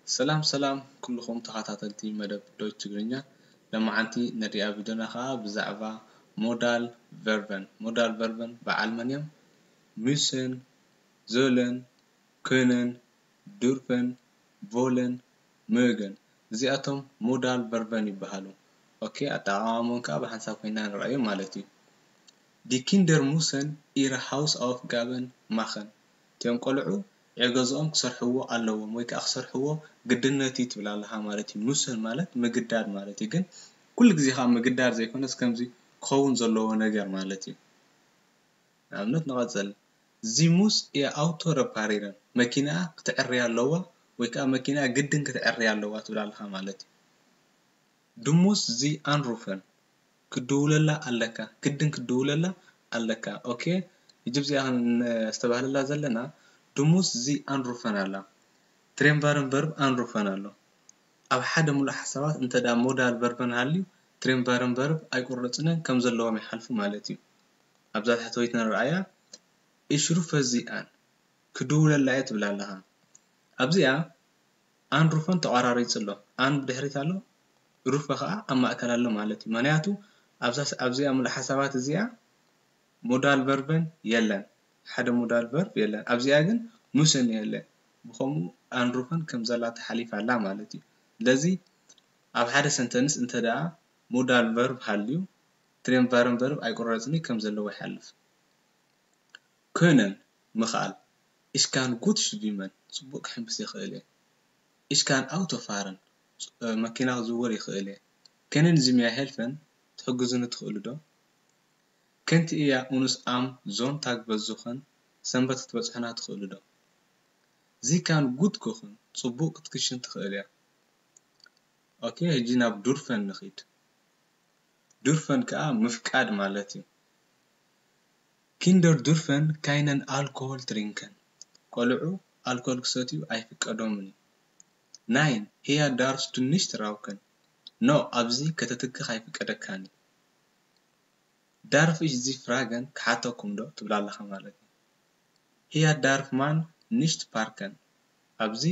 ሰላም ሰላም ኩልኹም ተኸታተልቲ መደብ ዶች ትግርኛ። ለማዓንቲ ነሪኣ ቪድዮና ከዓ ብዛዕባ ሞዳል ቨርበን። ሞዳል ቨርበን በዓል መን እዮም? ሙስን፣ ዞለን፣ ክንን፣ ዱርፈን፣ ቮለን፣ ምእገን። እዚኣቶም ሞዳል ቨርበን ይበሃሉ። ኦኬ፣ ኣጠቓቕማኦም ከዓ ብሓንሳብ ኮይና ንረኣዮ ማለት እዩ። Die Kinder müssen ihre Hausaufgaben machen። እቲኦም ቆልዑ ዕዮ ገዝኦም ክሰርሕዎ ኣለዎም ወይ ከዓ ክሰርሕዎ ግድነት እዩ ትብል ኣለኻ ማለት እዩ። ሙስን ማለት ምግዳድ ማለት እዩ። ግን ኩሉ ግዜ ከዓ ምግዳድ ዘይኮነስ ከምዚ ክኸውን ዘለዎ ነገር ማለት እዩ። ንኣብነት ንቐጽል። Sie muss ihr Auto reparieren። መኪናኣ ክትዕርያ ኣለዋ ወይ ከዓ መኪናኣ ግድን ክትዕርያ ኣለዋ ትብል ኣለኻ ማለት እዩ። Du musst sie anrufen። ክድውለላ ኣለካ፣ ግድን ክድውለላ ኣለካ። ኦኬ፣ ሕጂ ብዚኣ ክነስተባህለላ ዘለና du musst sie anrufen ኣላ። ትሬንቫርን ቨርብ ኣንሩፈን ኣሎ። ኣብ ሓደ ሙሉእ ሓሳባት እንተ ደኣ ሞዳል ቨርበን ሃልዩ ትሬንቫርን ቨርብ ኣይቁረጽንን ከም ዘለዎም ይሓልፉ ማለት እዩ። ኣብዛ ታሕተወይቲ ንረኣያ ich rufe sie an። ክድውለላ እየ ትብል ኣለኻ። ኣብዚኣ ኣንሩፈን ተቋራሪጹ ኣሎ። ኣን ብድሕሪት ኣሎ፣ ሩፈ ኸዓ ኣብ ማእከል ኣሎ ማለት እዩ። ምኽንያቱ ኣብዛ ኣብዚኣ ሙሉእ ሓሳባት እዚኣ ሞዳል ቨርበን የለን። ሓደ ሞዳል ቨርብ የለን። ኣብዚኣ ግን ሙስን የለን። ብኸምኡ ኣንሩፈን ከም ዘላ ተሓሊፋ ኣላ ማለት እዩ። ስለዚ ኣብ ሓደ ሰንተንስ እንተ ደኣ ሞዳል ቨርብ ሃልዩ ትሬንቫርን ቨርብ ኣይቁረጽን እዩ ከም ዘለዎ ይሓልፍ። ክንን ምኽኣል። Ich kann gut schwimmen። ጽቡቕ ክሕምብስ ይኽእል እየ። Ich kann Auto fahren። መኪና ክዝውር ይኽእል እየ። Können Sie mir helfen? ትሕግዙኒ ትኽእሉ ዶ? Könnt ihr uns am Sonntag besuchen? ሰንበት ክትበጽሑና ትኽእሉ ዶ? Sie kann gut kochen። ጽቡቕ ክትክሽን ትኽእል እያ። ኦኬ፣ ሕጂ ናብ ዱርፈን ንኺድ። ዱርፈን ከኣ ምፍቃድ ማለት እዩ። Kinder dürfen keinen Alkohol trinken። ቆልዑ ኣልኮል ክሰትዩ ኣይፍቀዶምን እዩ። Nein, hier darfst du nicht rauchen። ኖ፣ ኣብዚ ከተትክኽ ኣይፍቀደካን እዩ። Darf ich Sie fragen? ክሓተኩም ዶ ትብል ኣለኻ ማለት እዩ። Hier darf man nicht parken። ኣብዚ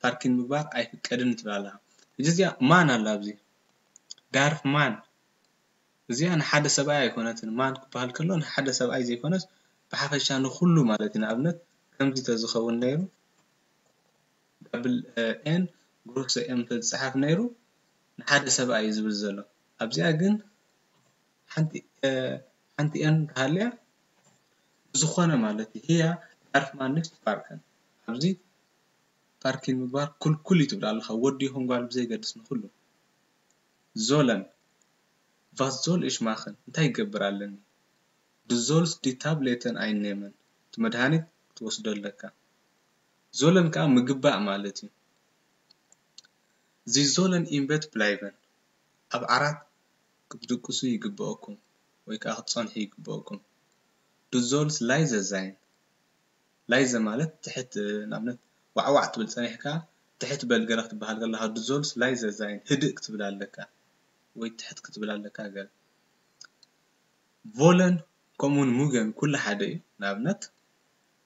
ፓርኪን ምግባር ኣይፍቀድን ትብል ኣለኻ። ሕጂ እዚኣ ማን ኣላ ኣብዚ። Darf man። እዚኣ ንሓደ ሰብኣይ ኣይኮነትን። ማን ክበሃል ከሎ ንሓደ ሰብኣይ ዘይኮነስ ብሓፈሻ ንኹሉ ማለት እዩ። ንኣብነት ከምዚ ተዝኸውን ነይሩ፣ ዳብል ኤን ግሩሰ ኤም ተዝፀሓፍ ነይሩ ንሓደ ሰብኣይ እዩ ዝብል ዘሎ። ኣብዚኣ ግን ሓንቲ ኤን ተሃልያ ዝኾነ ማለት እዩ። Hier darf man nicht parken። ኣብዚ ፓርኪን ምግባር ክልኩል እዩ ትብል ኣለኻ። ወዲ ይኹን ጓል ብዘይገድስ ንኹሉ። Sollen። Was soll ich machen? እንታይ ይገብር ኣለኒ? Du sollst die Tabletten einnehmen። እቲ መድሃኒት ክትወስዶ ኣለካ። Sollen ከዓ ምግባእ ማለት እዩ። Sie sollen im Bett bleiben። ኣብ ዓራት ክትድቅሱ ይግበኣኩም ወይ ከዓ ክትጸንሑ ይግበኣኩም። Du sollst leise sein። Leise ማለት ትሕት፣ ንኣብነት ዋዕዋዕ ትብል ጸኒሕካ ትሕት በል ገለ ክትበሃል ከለኻ du sollst leise sein፣ ህድእ ክትብል ኣለካ ወይ ትሕት ክትብል ኣለካ ገለ። Wollen ከምኡውን mögen ኩሉ ሓደ እዩ። ንኣብነት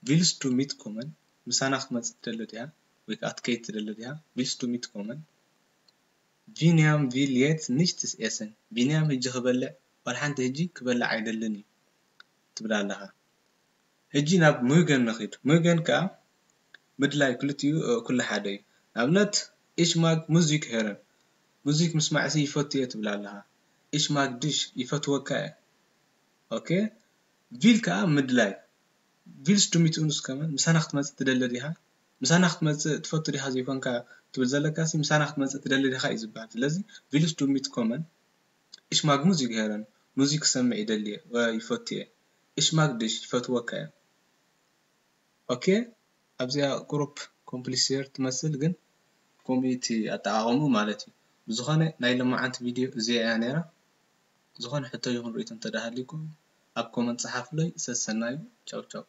Willst du mitkommen? ምሳና ክትመጽእ ትደሊ ዲኻ? ወይ ከዓ ክትከይድ ትደሊ ዲኻ? Willst du mitkommen? Biniam will jetzt nichts essen። ቢንያም ሕጂ ክበልዕ፣ ዋላ ሓንቲ ሕጂ ክበልዕ ኣይደልን እዩ ትብል ኣለኻ። ሕጂ ናብ mögen ንኺድ። Mögen ከዓ ምድላይ ክልቲኡ ኩሉ ሓደ እዩ። ንኣብነት Ich mag Musik hören። ሙዚክ ምስማዕሲ ይፈቱ እየ ትብል ኣለኻ። Ich mag dich ይፈትወካ እየ። ኦኬ። Will ከዓ ምድላይ። Willst du mit uns kommen? ምሳና ክትመጽእ ትደሊ ዲኻ? ምሳና ክትመጽእ ትፈቱ ዲኻ ዘይኮንካ ትብል ዘለካ ሲ ምሳና ክትመጽእ ትደሊ ዲኻ እዩ ዝበሃል። ስለዚ willst du mitkommen? Ich mag Musik hören። ሙዚክ ክሰምዕ ይደሊ እየ፣ ይፈቱ እየ። Ich mag dich ይፈትወካ እየ። ኦኬ፣ ኣብዚኣ ቁሩብ ኮምፕሊሴር ትመስል ግን ከምኡ እቲ ኣጠቓቕሙ ማለት እዩ። ብዝኾነ ናይ ሎማዓንቲ ቪድዮ እዚኣ እያ ነይራ። ዝኾነ ሕቶ ይኹን ርእይቶ እንተደኣ ሃልዩኩም ኣብ ኮመንት ጸሓፉለይ። ሰሰናዩ። ቻው ቻው።